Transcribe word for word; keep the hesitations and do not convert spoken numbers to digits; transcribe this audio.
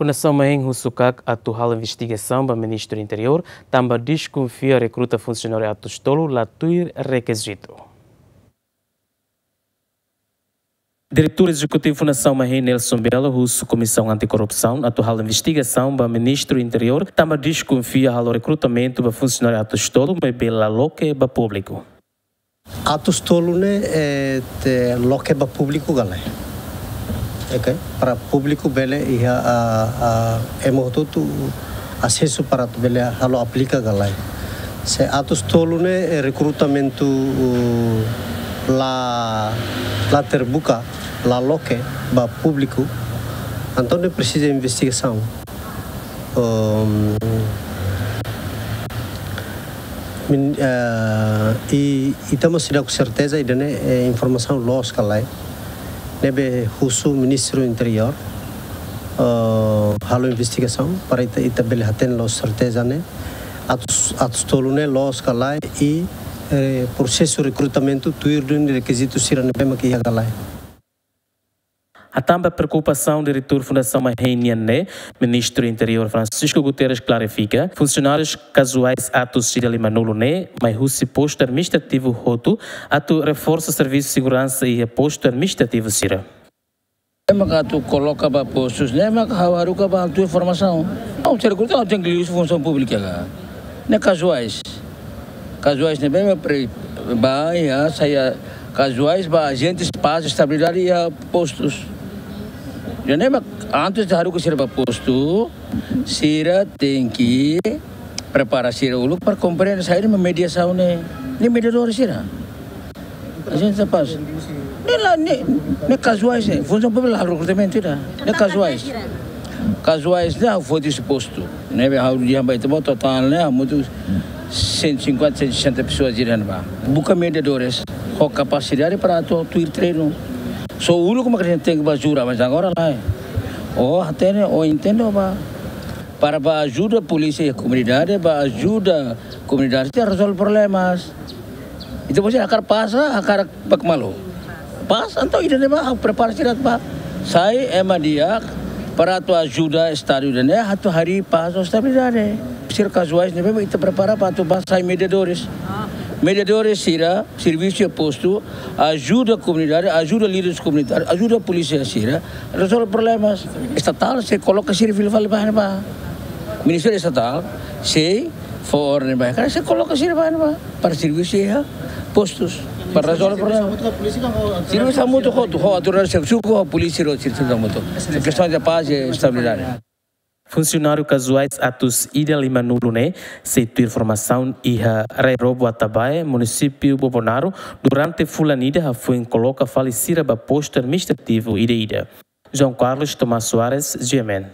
Fundasaun Mahein husu KAK atu halo investigasaun ba Ministru Interiór, tanba deskonfia rekruta funsionáriu atus tolu la tuir rekizitu. Diretór Ezekutivu Fundasaun Mahein, Nelson Belo, husu Komisaun Antikorrupsaun atu halo investigasaun ba Ministru Interiór, tanba deskonfia halo rekrutamentu ba funsionáriu atus tolu, maibé la loke ba públiku. Atus tolu ne'e, eh, ita loke ba públiku ka lae. Oke, para públiku bele iha, ah, ah, ema hotu-hotu asesu para atu bele halo aplika ka lae. Se atus tolu ne'e, eh, rekrutamentu, uh, la, la terbuka, la loke ba públiku, entaun ne'e presiza investigasaun. Um, min-, eh, i, ita mós seidauk serteza ida-ne'e, eh, informasaun loos ka lae. Ne'ebé husu Ministru Interiór, eh, halo investigasaun para ita, ita bele hatene loos serteza ne'e. Atus, atus tolu ne'e loos ka lae i, eh, prosesu rekrutamentu tuir duni rekizitu sira ne'ebé mak iha ka lae. Hatán ba preokupasaun Diretór Fundasaun Mahein nian ne'e, Ministru Interiór Francisco Guterres klarifika, funsionárius kazuais atus ida lima-nulu ne'e mai husi postu administrativu hotu atu reforsa servisu seguransa iha postu administrativu sira. Ema atu koloka ba postus ne'e mak ha'u haruka ba atu formasaun. Ha'u sira kuta ha'u tenke liuhusi funsaun públika ka. Ne'e kazuais. Kazuais ne'ebé mak pre-, ba iha, sai kazuais ba ajente pás estabilidade iha postus. Jadi ne'e mak antes de haruka sira ba postu, sira tenke prepara sira uluk para komprende saida mak mediasaun ne'e. Ne'e mediadór sira. Ajente pás. Ne'e la, ne'e, ne'e kazuais ne'e. Funsaun públika la rekrutamentu ida. Ne'e kazuais. Kazuais ne'e ha'u foti husi postu. Ne'ebé ha'u dehan ba ita-boot totál ne'e hamutuk cento e cinquenta, cento e sessenta pessoas ida-ne'ebá. Buka mediadores ho kapasidade para atu tuir treinu. Só uluk mak tenke ba jura, mas agora lae. Ó hatene, ó entende, ó ba. Para ba ajuda polísia iha komunidade, ba ajuda komunidade sira rezolve problemas. Entaun, se hakarak pás, hakarak bá ka malu. Pás, entaun ida-ne'ebá ha'u prepara sira ba. Sai ema di'ak para atu ajuda estadu ida-ne'e atu harii pás no estabilidade. Sira kazuais ne'ebé ita prepara para atu ba sai mediadores. Mediadores sira servisu iha postu, ajuda komunidade, ajuda líderes komunitárius, ajuda polísia sira rezolve problemas. Estatál sei koloka sira fila fali ba ne'ebá. Ministériu Estatál sei fó orden ba, sei koloka sira ba ne'ebá para servisu iha postus, para rezolve problema. Servisu hamutuk hotu, ho autoridade servisu, ho polísia, ho servisu hamutuk. Kestaun de pás e estabilidade. Funsionáriu kazuais atus ida lima-nulu ne'e sei tuir formasaun iha Rai Robo Atabae, munisípiu Bobonaro, durante fulan ida hafoin koloka fali sira ba postu administrativu ida-ida. João Carlos Tomás Soares, G M N.